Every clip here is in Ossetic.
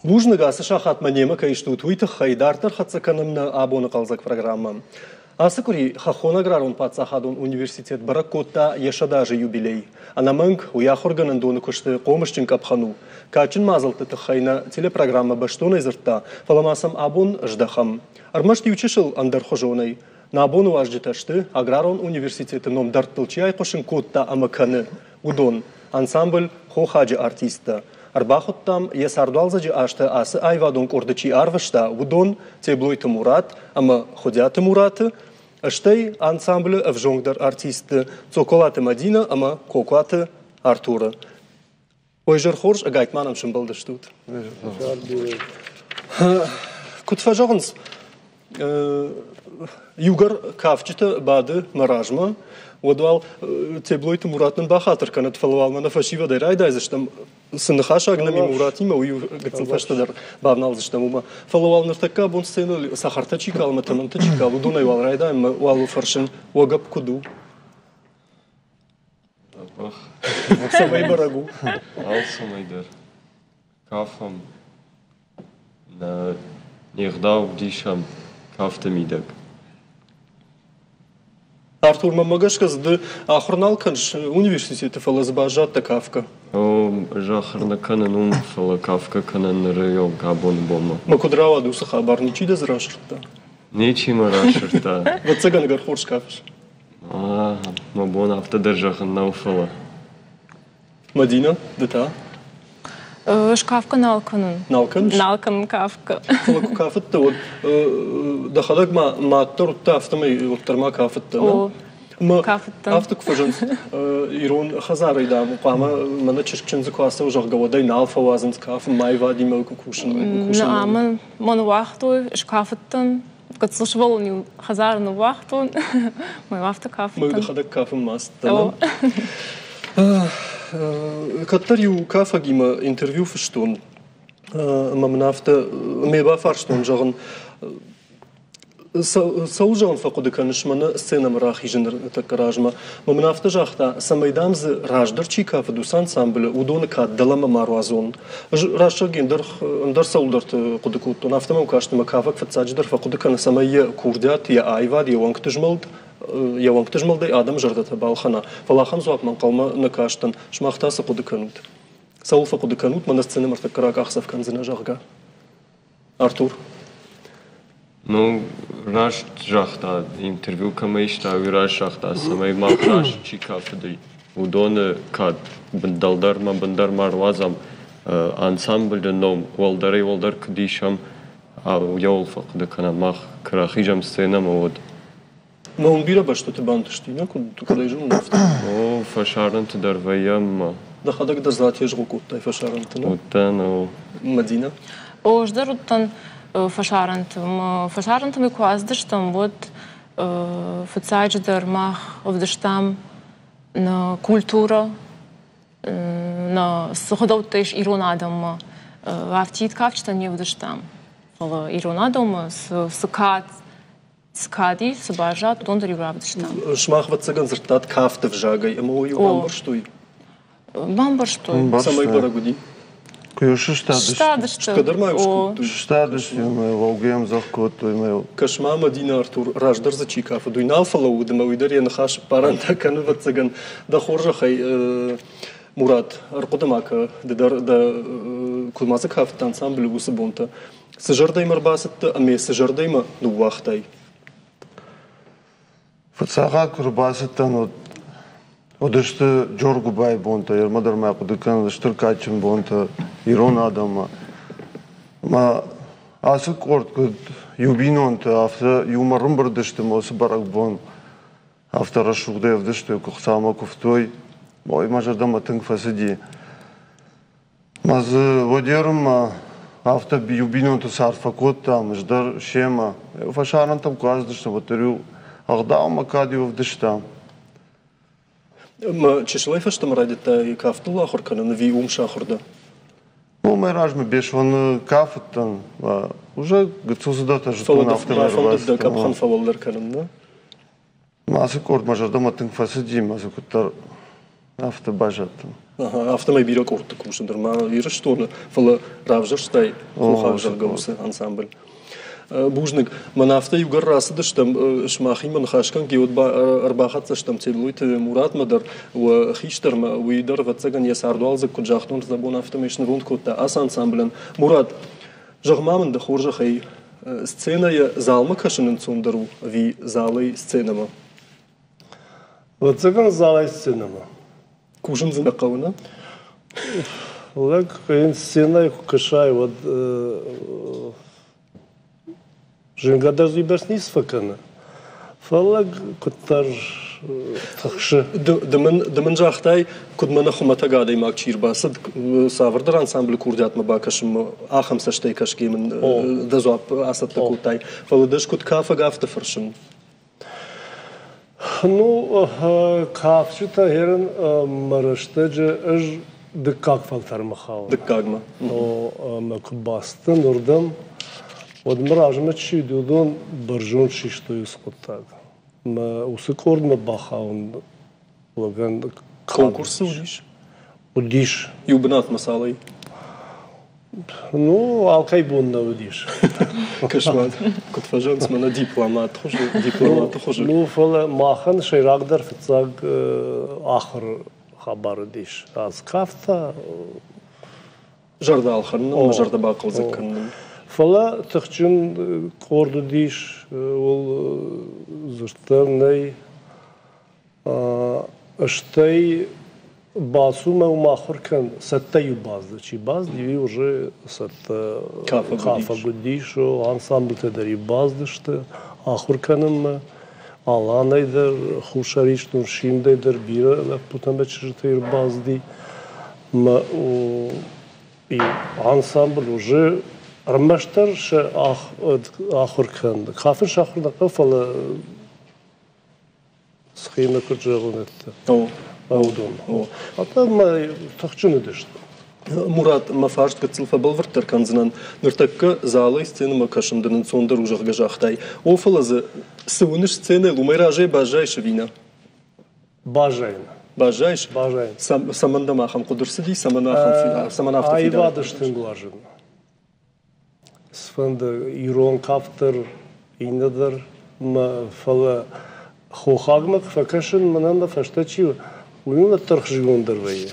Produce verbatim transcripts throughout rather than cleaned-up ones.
Бузныг ацы сахатмӕ немӕ кӕй стут, уый тыххӕй дарддӕр хӕццӕ кӕнӕм нӕ абоны хъӕлдзӕг программӕ. Ацы къуыри Хӕххон аграрон паддзахадон университет бӕрӕг кодта йӕ сӕдӕазы юбилей. Ӕнӕмӕнг, уый ахуыргӕнӕндоны куысты хъомысджын къӕпхӕн у. Кадджын мадзӕлтты тыххӕй нӕ телепрограммӕ бӕстонӕй дзырдта, фӕлӕ ма сӕм абон здӕхӕм. Ӕрмӕст иу чысыл ӕндӕрхуызонӕй. Нӕ абоны уазджытӕ сты, аграрон университеты ном дӕрдтыл чи айхъуысын кодта ӕмӕ кӕны, уыдон. Ансамбль «Хохаджы» артисттӕ. Ӕрбахуыдтам, йӕ цардуалдзӕджы азты ацы аивадон къорды чи арвыста, уыдон Теблойты Мурат ӕмӕ Хуыдиаты Мураты, стӕй ансамблы ӕвзонгдӕр артистты Цоколаты Мадинӕ ӕмӕ Кокуаты Артуры. Ой, зӕр хорз, ӕгайтма нӕм сӕмбӕлдыстут. Куыд фӕзӕгъынц, иугӕр кафджытӕ бады мӕ размӕ, уӕд уал Теблойты Мурат нын бахатыр кӕнӕд, фӕлӕ уал мӕнӕ фӕсивӕдӕй райдайдзыстӕм. Цы ныхасаг нӕм и Муратимӕ, уый гыццыл фӕстӕдӕр бавналдзыстӕм уымӕ. Фӕлӕ уал ныртӕккӕ абон сценӕйыл цӕхӕртӕ чи калы ӕмӕ тӕмӕнтӕ чи калы, уыдонӕй уал райдайӕм ӕмӕ уал фӕрсын, уӕ гӕпп куыд у? Цӕмӕй бӕрӕг у? Алцӕмӕй дӕр. Кафӕм, нӕ не гъдау ӕвдисӕм кафты мидӕг. Артур, мӕнмӕ гӕсгӕ дзы ды ахуыр нал кӕныс университеты, фӕлӕ дзы баззадтӕ кафгӕ. О, ӕз ахуыр нӕ кӕнын уым, фӕлӕ кафгӕ кӕнын ныры онг абоны бонмӕ. Мӕ куыд рауад уыцы хабар, ничи дӕ дзы расырдта? Ничи мӕ расырдта. Ӕвӕццӕгӕн, ӕгӕр хорз кафыс. Мӕ бон афтӕ дӕр зӕгъын нӕу, фӕлӕ. Мадинӕ, ды та? Ӕз кафгӕ нал кӕнын. Нал кӕныс? Нал кӕнын кафгӕ. Фӕлӕ куы кафыдтӕ, уӕд дӕхӕдӕг ма мад дӕр уыдтӕ, афтӕмӕй уӕддӕр ма кафыдтӕ, О, кафыдтӕн. Афтӕ куы фӕзынц, ирон хӕдзарӕй, дам, хъуамӕ мӕнӕ чызг чындзы куы ацӕуы, зӕгъгӕ, уӕд ӕй нал фӕуадзынц кафын, ма аивадимӕ куы кусын. Нӕ, мӕн, мӕн уагътой, скафыдтӕн. Гыццыл сывӕллон-иу хӕдзары ныууагътон, мӕ афтӕ кафыдтӕн. Мӕ дӕхӕдӕг кафынмӕ ацыдтӕ? Кӕддӕр иу кафӕгимӕ интервью фыстон, ӕмӕ мын афтӕ ме бафарстон, зӕгъын, цӕуыл зӕгъын фӕхъуыды кӕныс мӕнӕ сценӕмӕ рахизыны тӕккӕ размӕ. Мӕ мын афтӕ загъта, цӕмӕй дам дзы раздӕр чи кафыд уыцы ансамблы, уыдоны кад дӕлӕмӕ ма руадзон. Ӕз раст зӕгъгӕ ӕндӕр, ӕндӕр цӕуылдӕрты хъуыды кодтон. Афтӕ мӕм каст, ӕмӕ кафӕг фыццаджыдӕр фӕхъуыды кӕны, цӕмӕй йӕ курдиат, йӕ аивад, йӕ уӕнгты змӕлд йӕ уӕнгты змӕлдӕй адӕмы зӕрдӕтӕ балхӕна. Фӕлӕ ахӕм дзуапмӕ ӕнхъӕлмӕ нӕ кастӕн. Сымах та цы хъуыды кӕнут? Цӕуыл фӕхъуыды кӕнут, мӕнӕ сценӕмӕ ӕртӕккӕ ракъахдзӕф кӕндзынӕ, зӕгъгӕ? Артур. Ну, раст загъта, интервью кӕмӕй иста, уый раст загъта, цӕмӕй мах раст чи кафыди, уыдоны кад дӕлдӕрмӕ бындӕр ма руадзӕм, ансамблы ном уӕлдӕрӕй-уӕлдӕр куыд исӕм, уыйауыл фӕхъуыды кӕнӕм мах, куы рахизӕм сценӕмӕ, уӕд. Мӕ уын бирӕ бӕстӕты бантысти, нӕ куыд, куыд ӕй зонын, афтӕ. О, фӕсарӕнты дӕр вӕййӕм. Дӕхӕдӕг дӕр дзы атезгъо кодтай фӕсарӕнты, нӕ? Уыдтӕн, о. Мадинӕ? О, ӕз дӕр уыдтӕн фӕсарӕнты. Фӕсарӕнты мы куы ацыдыстӕм, уӕд фыццаджыдӕр мах ӕвдыстам нӕ культурӕ, нӕ цы гъдӕуттӕ ис ирон адӕммӕ. Афтид кафджытӕ не вдыстам, фӕлӕ ирон адӕммӕ цы, цы кад цы кад ис, цы баззад, уыдон дӕр-иу равдыстам. Сымах, ӕвӕццӕгӕн, дзырдтат кафты взагӕй, ӕмӕ уый бамбӕрстой? Бамбӕрстой. Цӕмӕй бӕрӕг уыди? Куы сыстадысты. Сыстадысты. Кӕдӕр ма иу скодтой. Сыстадысты ӕмӕ лӕугӕ ӕмдзӕгъд кодтой ӕмӕ Кӕс-ма, Мадинӕ, Артур, раздӕр дзы чи кафыд, уый нал фӕлӕууыд ӕмӕ уый дӕр йӕ ныхас ӕппарӕнтӕ кӕны, ӕвӕццӕгӕн. Дӕ хорзӕхӕй, Мурат, ӕрхъуыды ма кӕ, ды дӕр дӕ куыд ма дзы кафыдтӕ ансамблы уыцы бонтӕ. Цы зӕрдӕимӕ ӕрбацыдтӕ ӕмӕ цы зӕрдӕимӕ ныууагътай? Фыццаг хатт куы ӕрбацыдтӕн, уӕд уыдысты Джоргуыбайы бонтӕ, ӕрмӕ дӕр мӕ хъуыды кӕнын стыр кадджын бонтӕ ирон адӕммӕ. Ӕмӕ ацы къорд куыд иу бинонтӕ, афтӕ иумӕ ӕрӕмбырд сты ӕмӕ уыцы бӕрӕгбон афтӕ рӕсугъдӕй ӕвдыстой, куы Хуыцаумӕ куывтой. Ой, мӕ зӕрдӕмӕ тынг фӕцыди. Мӕ дзы уӕдерынмӕ афтӕ иу бинонты цард фӕкодтам, ӕз дӕр семӕ. Фӕсарӕнтӕм куы ацыдыстӕм, уӕддӕр-иу ӕгъдаумӕ кӕд-иу ӕвдыстам. Мӕ чысылӕй фӕстӕмӕ райдыдтай кафтыл ахуыр кӕнын ӕви уым сахуыр дӕ? Ну, мӕ размӕ Беслӕны кафыдтӕн. Уже гыццыл цыдӕртӕ зыдтон, афтӕ фӕндыд дӕ къӕпхӕн фӕуӕлдӕр кӕнын, нӕ? Ацы къорд мӕ зӕрдӕмӕ тынг фӕцыди, мӕ дзы куыддӕр Афтӕ баззадтӕн. Афтӕмӕй бирӕ къордты кусы нырма Ирыстоны, фӕлӕ равзӕрстай хохаг, зӕгъгӕ, уыцы ансамбль. Бузныг. Мӕн афтӕ иугӕр рацыдыстӕм сымахимӕ ныхасгӕнгӕ, уӕд ӕрбахӕццӕ стӕм Теблойты Муратмӕ дӕр, уӕ хистӕрмӕ, уый дӕр, ӕвӕццӕгӕн, йӕ цардуалдзӕг, куыд загътон, рдӕбон афтӕмӕй снывонд кодта ацы ансамблӕн. Мурат, зӕгъ-ма мын дӕ хорзӕхӕй, сценӕйӕ залмӕ кӕсын ӕнцондӕр у ӕви залӕй сценӕмӕ? Ӕвӕццӕгӕн, залӕй сценӕмӕ. Кусын дзы нӕ хъӕуы, нӕ? Лӕг сценӕйы куы кӕсай, уӕд зынгӕ дӕр дзы уыйбӕрц ницы фӕкӕны. Фӕлӕ куыддӕр тыхсы. Ды мын, ды мын загътай, куыд мӕнӕ хуымӕтӕг адӕймаг чи рбацыд, цавӕрдӕр ансамблы курдиатмӕ бакӕсынмӕ, ахӕм цӕстӕй кӕсгӕ мын дӕ дзуапп ацӕттӕ кодтай. Фӕлӕ дӕ ӕз куыд кафӕг, афтӕ фӕрсын. Ну, кафджытӕ херын мӕ рӕстӕджы ӕз дыккаг фӕлтӕрмӕ хауын. Дыккагмӕ. О, ӕмӕ куы бацыдтӕн уырдӕм, уӕд мӕ размӕ чи уыд, уыдон бӕрзонд систой уыцы хъуыддаг. Мӕ уыцы къордмӕ бахауын лӕгӕн Конкурсы уыдис? Уыдис. Иу бынатмӕ цалӕй? Ну, алкӕй бон нӕ уыдис. Кӕс-ма, куыд фӕзӕгъынц, мӕнӕ дипломат хуызы, дипломаты хуызы. Ну, фӕлӕ махӕн сӕйрагдӕр фыццаг ахуыр хабар уыдис. Аз кафта. Зӕрдӕ ӕлхӕнын ӕмӕ зӕрдӕ бахъӕлдзӕг кӕнын. Фӕлӕ тыхджын къорд уыдис, ууыл дзырдтӕ нӕй. Стӕй бацу мӕ уым ахуыр кӕн, цӕттӕ-иу бацыд. Чи бацыд, уый уже цӕттӕ кафӕг уыдис, ансамблтӕ дӕр-иу бацыдысты ахуыр кӕнынмӕ. Аланӕй дӕр, Хуссар Ирыстон Симдӕй дӕр бирӕ лӕппутӕ ӕмӕ чызджытӕ ӕрбацыди. Мӕ ансамбль уже ӕрмӕстдӕр сӕ ахуыр кӕн. Кафын сахуыр нӕ хъӕуы, фӕлӕ схемӕ куыд зӕгъон, уыдон. Ӕмӕ тыхджын уыдысты. Мурат, мӕ фарст гыццыл фӕбӕлвырддӕр кӕндзынӕн. Ныртӕккӕ залӕй сценӕмӕ кӕсын дын ӕнцондӕр у, зӕгъгӕ, загътай. О, фӕлӕ дзы цы уыныс сценӕйыл, уымӕй разӕй баззайыс ӕви нӕ? Баззайын. Баззайыс? Баззайын. Цӕмӕн дӕм ахӕм хъуыды рцыди, цӕмӕн ахӕм, цӕмӕн афтӕ фидар? Аивады стынг уарзын. Цыфӕнды ирон кафт дӕр, иннӕ дӕр, фӕлӕ хохагмӕ куы фӕкӕсын, мӕнӕн мӕ фӕстӕ чи у, уый мын уӕддӕр хызгонддӕр вӕййы.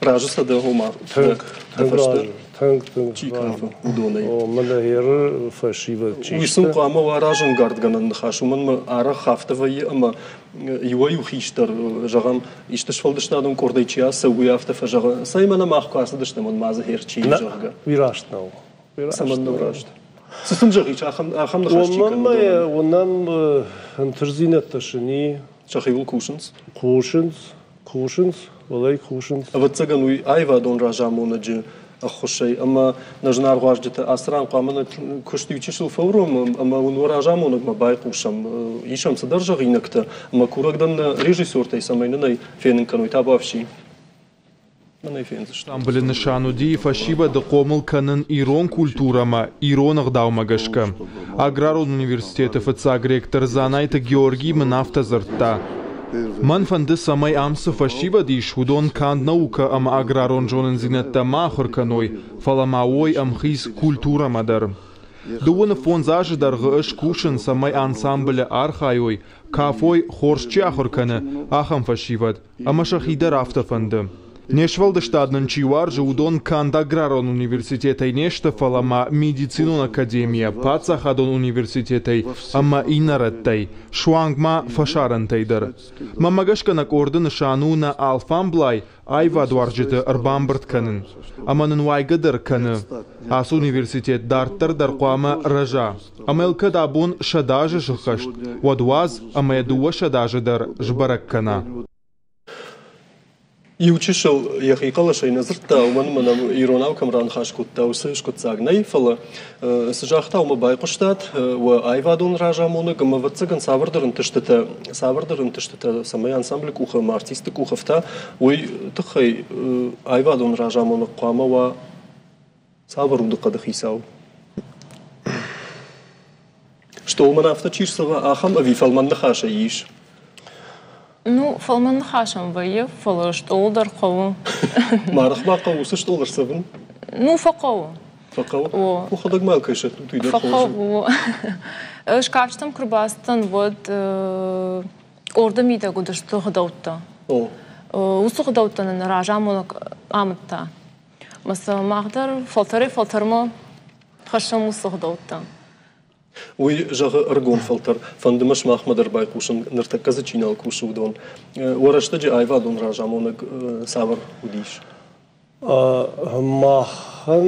Разы сӕ дӕ, ома, тынг, тынг разы, тынг, тынг чи кафы, уыдонӕй. О, мӕнӕ еры фӕсивӕд чи Уый сын хъуамӕ уа разӕнгардгӕнӕн ныхас, уымӕн ӕмӕ арӕх афтӕ вӕййы, ӕмӕ иуӕй-иу хистӕр, зӕгъӕм, исты сфӕлдыстадон къордӕй чи ацӕуы, уый афтӕ фӕзӕгъы, цӕй мӕнӕ мах куы ацыдыстӕм, уӕд ма дзы хер чи, зӕгъгӕ. Уый раст нӕу. Цӕмӕн нӕу раст? Цы сын зӕгъис, ахӕм, ахӕм ныхас чи кӕны? Уымӕн уынӕм ӕнтыстдзинӕдтӕ сын и. Сӕхиуыл кусынц? Кусынц, кусынц, уӕлӕй кусынц. Ӕвӕццӕгӕн, уый аивадон разамонӕджы ӕххуысӕй ӕмӕ нӕ зынаргъ уазджытӕ, ацы ран хъуамӕ нӕ куыст иу чысыл фӕуромӕм ӕмӕ уын уӕ разамонӕгмӕ байхъусӕм. Исӕм цыдӕр зӕгъинӕгтӕ ӕмӕ курӕг дӕн нӕ режиссертӕй, цӕмӕй нын ӕй фенын кӕной. Табуафси. Мӕн ӕй фендзысты. Ансамблы нысан уыди фӕсивӕды хъомыл кӕнын ирон культурӕмӕ, ирон ӕгъдаумӕ гӕсгӕ. Аграрон университеты фыццаг ректор Дзанайты Георгий мын афтӕ дзырдта: Мӕн фӕнды, цӕмӕй ам цы фӕсивӕд ис, уыдон канд наукӕ ӕмӕ аграрон зонындзинӕдтӕ ма ахуыр кӕной, фӕлӕ ма уой ӕмхиц культурӕмӕ дӕр. Дыууын фондз азы дӕргъы ӕз кусын, цӕмӕй ансамблы архайой, кафой, хорз чи ахуыр кӕны, ахӕм фӕсивӕд, ӕмӕ сӕхи дӕр афтӕ фӕнды. Не сфӕлдыстад нын чи уарзы, уыдон канд аграрон университетӕй не сты, фӕлӕ ма медицинон академийӕ, паддзахадон университетӕй ӕмӕ иннӕ рӕттӕй, суанг ма фӕсарӕнтӕй дӕр. Мӕнмӕ гӕсгӕ нӕ къорды нысан у нӕ алфамблай аивадуарзджыты ӕрбамбырд кӕнын. Ӕмӕ нын уайгӕ дӕр кӕны. Ацы университет дарддӕр дӕр хъуамӕ рӕза. Ӕмӕ йыл кӕд абон сӕдӕ азы сыххӕст, уӕд уадз ӕмӕ йӕ дыууӕ сӕдӕ азы дӕр сбӕрӕг кӕна. Иу чысыл йӕхи хъӕлӕсӕй нӕ дзырдта, уымӕн ӕмӕ нӕм иронау кӕм раныхас кодта, уыцы скъуыддзаг нӕй, фӕлӕ цы загъта, уымӕ байхъуыстат, уӕ аивадон разамонӕг ӕмӕ, ӕвӕццӕгӕн, цавӕрдӕр ӕнтыстытӕ, цавӕрдӕр ӕнтыстытӕ, цӕмӕй ансамблы къухы ӕмӕ артисты къухы ӕфта, уый тыххӕй аивадон разамонӕг хъуамӕ уа цавӕр удыхъӕды хицау? Стъолмӕ афтӕ чи рцӕуа, ахӕм ӕви фӕлмӕн ныхасӕй ис? Ну, фӕлмӕн ныхасӕн вӕййы, фӕлӕ стъол дӕр хъӕуы. Марах ма хъӕуы уыцы стъол ӕрцӕвын? Ну, фӕхъӕуы. Фӕхъӕуы? Уӕхӕдӕг ма кӕй сӕттут, уый дӕр хорз у. Фӕхъӕуы. Ӕз кафджытӕм куы рбацыдтӕн, уӕд къорды мидӕг уыдысты гъдӕуттӕ. Уыцы гъдӕуттӕ нын разамонӕг амыдта. Мӕ сӕ мах дӕр фӕлтӕрӕй-фӕлтӕрмӕ хӕссӕм уыцы гъдӕуттӕ. Уый зӕгъы ӕрыгон фӕлтӕр, фӕнды мӕ сымахмӕ дӕр байхъусын, ныртӕккӕ дзы чи нал кусы, уыдон. Уӕ рӕстӕджы аивадон разамонӕг цавӕр уыдис? Махӕн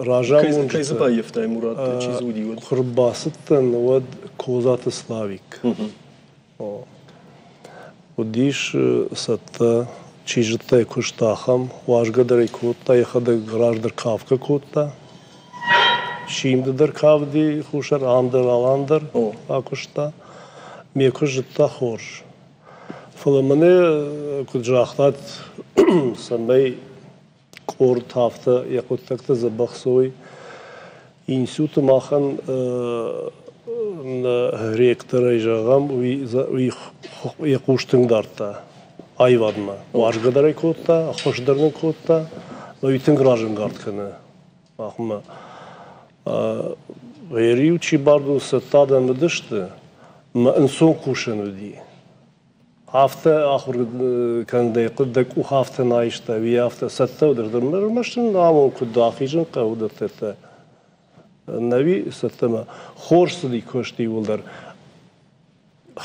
разамонджытӕ... Кӕй дзы баййӕфтай, Мурат, чи дзы уыди, уӕд? Куы рбацыдтӕн, уӕд Козаты Славик. Уыдис цӕттӕ, чи зыдта йӕ куыст ахӕм, уӕзгӕ дӕр ӕй кодта, йӕхӕдӕг раздӕр кафгӕ кодта. Симды дӕр кавди хуссар, ам дӕр, алан дӕр акуыста. Ме куыст зыдта хорз. Фӕлӕ мӕнӕ, куыд загътат, цӕмӕй къорд афтӕ йӕ хъуыддӕгтӕ дзӕбӕх цӕуой, институты махӕн ректорӕй зӕгъӕм, уый йӕ хъус тынг дардта аивадмӕ. Уарзгӕ дӕр ӕй кодта, ӕххуыс дӕр нын кодта, уый тынг разӕнгард кӕны махмӕ. Ӕриу чи бардыл цӕттӕ адӕм уыдысты, мӕ ӕнцон кусӕн уыди. Афтӕ ахуыр кӕндӕй дӕ къух афтӕ нӕ айста, уый афтӕ цӕттӕ уыдысты. Ӕрмӕст ын амон куыд ахизын хъӕуы дӕттӕ. Нӕуи цӕттӕмӕ. Хорз цыди куыст иууылдӕр.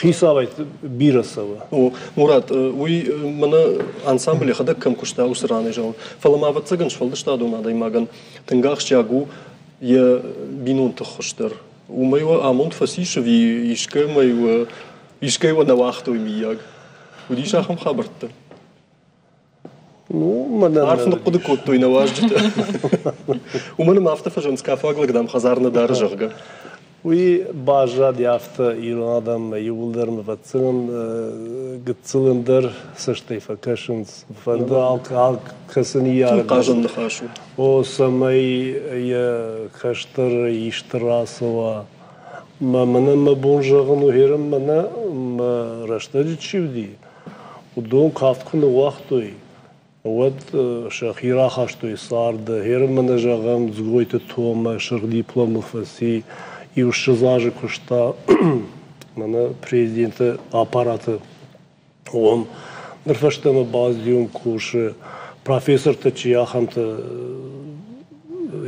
Хицауӕй бирӕ цӕуы. О, Мурат, уый мӕнӕ ансамбль йӕхӕдӕг кӕм куыста, уыцы ранӕй зӕгъын. Фӕлӕ ма ӕвӕццӕгӕн сфӕлдыстадон адӕймагӕн тынг ахсджиаг у йӕ бинонты ххуыс дӕр. Уымӕй уӕ амонд фӕцис ӕви искӕмӕй уӕ искӕй уӕ нӕ уагътой, миййаг? Уыдис ахӕм хабӕрттӕ? Ну, мӕнӕн Арф ныхъхъуыды кодтой нӕ уазджытӕ. Уымӕн ӕмӕ афтӕ фӕзӕгъынц, кафаг лӕг, дам, хӕдзар нӕ дары, зӕгъгӕ. Уый баззади афтӕ ирон адӕммӕ иууылдӕр ӕвӕццӕгӕн гыццыл ӕндӕр цӕстӕй фӕкӕсынц. Фӕнды алкӕцы ныййарӕг. Хъазӕн ныхас у. О, цӕмӕй йӕ кӕстӕр исты рацӕуа. Мӕ мӕнӕн мӕ бон зӕгъын у, херын мӕнӕ мӕ рӕстӕджы чи уыди, уыдон кафт куы ныууагътой, уӕд сӕхи рахастой царды. Херын мӕнӕ зӕгъӕм, Дзгойты Томӕ сырх дипломыл фӕци, иу ссӕдз азы куыста мӕнӕ президенты аппараты уым. Ныр фӕстӕмӕ баздиум кусы, профессортӕ чи ахӕмтӕ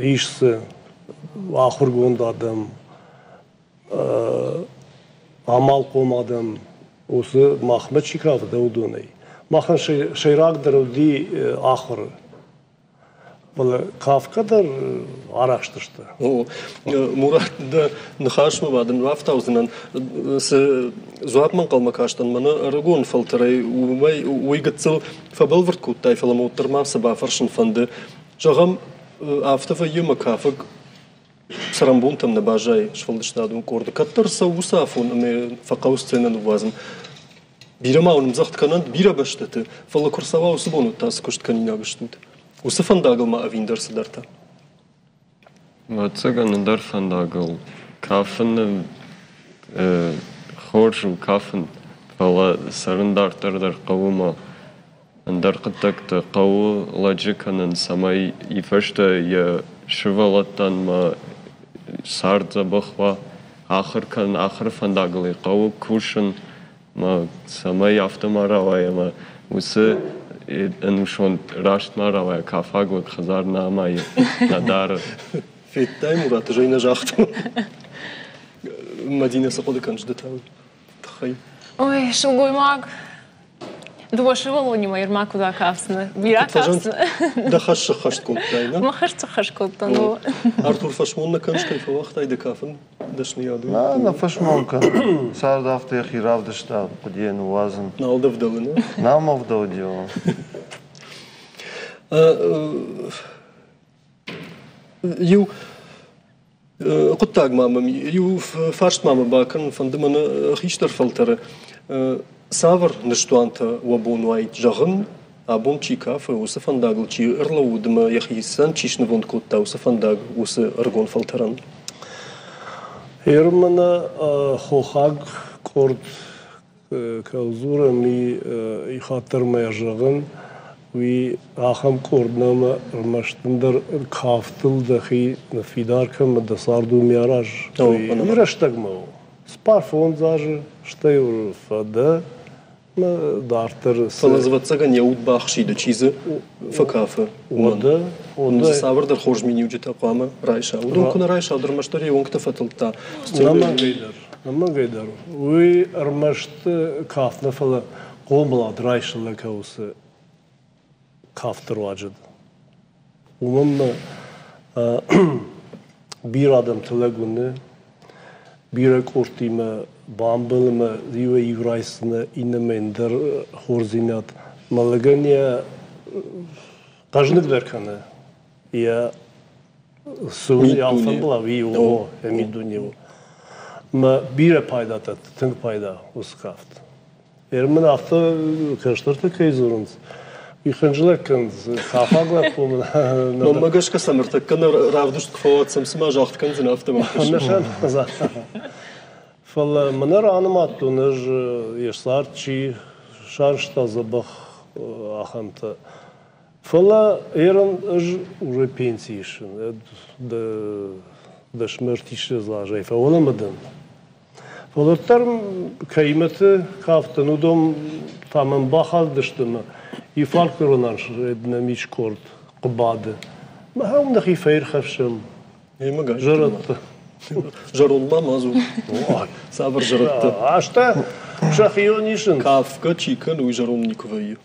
ис дзы, ахуыргонд адӕм, амалхъом адӕм, уыцы махмӕ чи кафыд, уыдонӕй. Махӕн сӕйрагдӕр уыди ахуыры. Фӕлӕ кафгӕ дӕр арӕхстысты. О, Мурат, дӕ ныхасмӕ ма дын бафтаудзынӕн. Цы дзуапмӕ ӕнхъӕлмӕ кастӕн мӕнӕ ӕрыгон фӕлтӕрӕй, уымӕй уый гыццыл фӕбӕлвырд кодтай, фӕлӕ мӕ уӕддӕр ма цы бафӕрсын фӕнды. Зӕгъӕм, афтӕ вӕййы ӕмӕ кафӕг цӕрӕнбонтӕм нӕ баззайы сфӕлдыстадон къорды. Кӕддӕр цӕуы уыцы афон ӕмӕ фӕхъӕуы сценӕ ныууадзын. Бирӕ ма уын ӕмдзӕгъд кӕнӕнт бирӕ бӕстӕты, фӕлӕ куы рцӕуа уыцы бон, уӕд та цы куыст кӕнинаг стут? Уыцы фӕндагыл ма ӕви ӕндӕр цыдӕртӕ? Ӕвӕццӕгӕн, ӕндӕр фӕндагыл. Кафын хорз у кафын, фӕлӕ цӕрын дарддӕр дӕр хъӕуы ма ӕндӕр хъуыддӕгтӕ хъӕуы лӕджы кӕнын, цӕмӕй и фӕстӕ йӕ сывӕллӕттӕн ма цард дзӕбӕх уа, ахуыр кӕнын, ахуыры фӕндагыл ӕй хъӕуы кусын, ма цӕмӕй афтӕ ма рауайа ӕмӕ уыцы ӕнусон раст ма рауайа, кафаг лӕг хӕдзар нӕ амайы, нӕ дары. Федтай, Мурат, ӕз ӕй нӕ загътон. Мадинӕ, цы хъуыды кӕныс ды та уый тыххӕй? Ой, сылгоймаг дыууӕ сывӕллонимӕ Ермак куыд акафдзынӕ? Бирӕ кафдзынӕ? Дӕ хӕс сыххӕст кодтай, нӕ? Мӕ хӕс сыххӕст кодтон. Артур, фӕсмон нӕ кӕныс, кӕй фӕуагътай дӕ кафын дӕсныйад? Нӕ, нӕ фӕсмон кӕнын. Цард афтӕ йӕхи равдыста, хъуыдыйӕ ныууадзын. Нал дӕ вдӕлы, нӕ? Нал мӕ вдӕлди. Иу хъуыддаг ма мӕм, иу фарст ма мӕ бакӕнын фӕнды мӕнӕ хистӕр фӕлтӕры. Цавӕр ныстуантӕ уӕ бон уаид зӕгъын, абон чи кафы, уыцы фӕндагыл чи ӕрлӕууыд ӕмӕ йӕхицӕн чи снывонд кодта, уыцы фӕндаг уыцы ӕрыгон фӕлтӕрӕн? Ерманы хохаг къорд Кӕудзурӕм и хаттӕрмӕ зӕгъын, уый ахӕм къорд нӕма ӕрмӕст ӕндӕр кафтыл дӕхи ныффидар кӕн ӕмӕ дӕ цард уым араз. Уый рӕстӕгмӕ у. Цыппар фондз азы, стӕй фӕдӕ мӕ дарддӕр. Фӕлӕ ӕвӕццӕгӕн йӕ уд бахсиды, чи дзы фӕкафы, уымӕн. Уым дзы цавӕрдӕр хорз миниуджытӕ хъуамӕ райса. Уыдон куы нӕ райса, уӕд ӕрмӕстдӕр йе уӕнгтӕ фӕтылдта. Ӕнӕмӕнгӕй дӕр. Ӕнӕмӕнгӕй дӕр. Уый ӕрмӕст кафт нӕ, фӕлӕ хъомылад райсы лӕг уыцы кафты руаджы. Уымӕн мӕ бирӕ адӕмты лӕг уыны, бирӕ къордтимӕ бамбӕлы мӕ иуӕй-иу райсдзынӕ, иннӕмӕ ӕндӕр хорздзинад. Мӕ лӕгӕн йӕ хъӕзныгдӕр кӕны йӕ цы у йӕ алфӕмбылай, уый у, йӕ миддуне у. Мӕ бирӕ пайда дӕтты, тынг пайда уыцы кафт. Ер мын афтӕ кӕстӕртӕ кӕй дзурынц, уый хынджылӕг кӕнынц, кафаг лӕппу мын. Мӕнмӕ гӕсгӕ сӕм ӕртӕккӕ нӕ равдыст куы фӕуадзӕм, цыма загъд кӕндзынӕ, афтӕ мӕм кӕсы. Фӕлӕ мӕнӕ ранымадтон ӕз йе цард чи сарӕзта дзӕбӕх ахӕмтӕ. Фӕлӕ ерын ӕз уже пенси исын, дӕсмӕ ӕртиссӕдз азӕй фӕуӕлӕмӕ дӕн. Фӕлӕ уӕддӕр кӕимӕты кафтӕн, уыдон та мӕм бахадыдысты ӕмӕ и фольклорон нӕм ис къорд Хъуыбады. Махӕн нӕхи фӕирхӕфсӕм. Зӕрӕдтӕ. Зӕронд ма ма дзур. Цавӕр зӕрӕдтӕ? Азтӕ сӕхион исынц. Кафгӕ чи кӕны, уый зӕронд никуы вӕййы.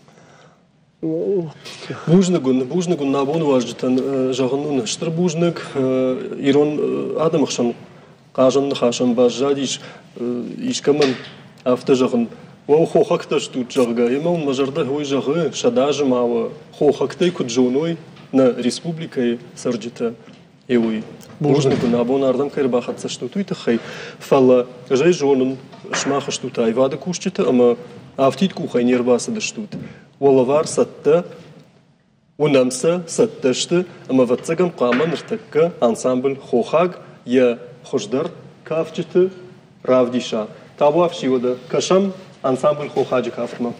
Бузныг уын, бузныг уын нӕ абоны уазджытӕн зӕгъын уын стыр бузныг. Ирон адӕмы хсӕн хъазӕн ныхасӕн баззадис искӕмӕн афтӕ зӕгъын, уӕ хохӕгтӕ стут, зӕгъгӕ, ӕмӕ уын мӕ зӕрдӕ уый зӕгъы, сӕдӕ азы ма уӕ хохӕгтӕй куыд зоной нӕ республикӕйы цӕрджытӕ, е уый. Бузныг уын, абон ардӕм кӕй ӕрбахӕццӕ стут, уый тыххӕй. Фӕлӕ ӕз ӕй зонын, сымах стут аивады кусджытӕ ӕмӕ афтид къухӕй не рбацыдыстут. Уӕ лӕвар цӕттӕ, уынӕм сӕ, цӕттӕ сты, ӕмӕ ӕвӕццӕгӕн хъуамӕ ныртӕккӕ ансамбль «Хохаг» йӕ хуыздӕр кафджыты равдиса. Табуафси уӕдӕ, кӕсӕм ансамбль «Хохаджы» кафтмӕ.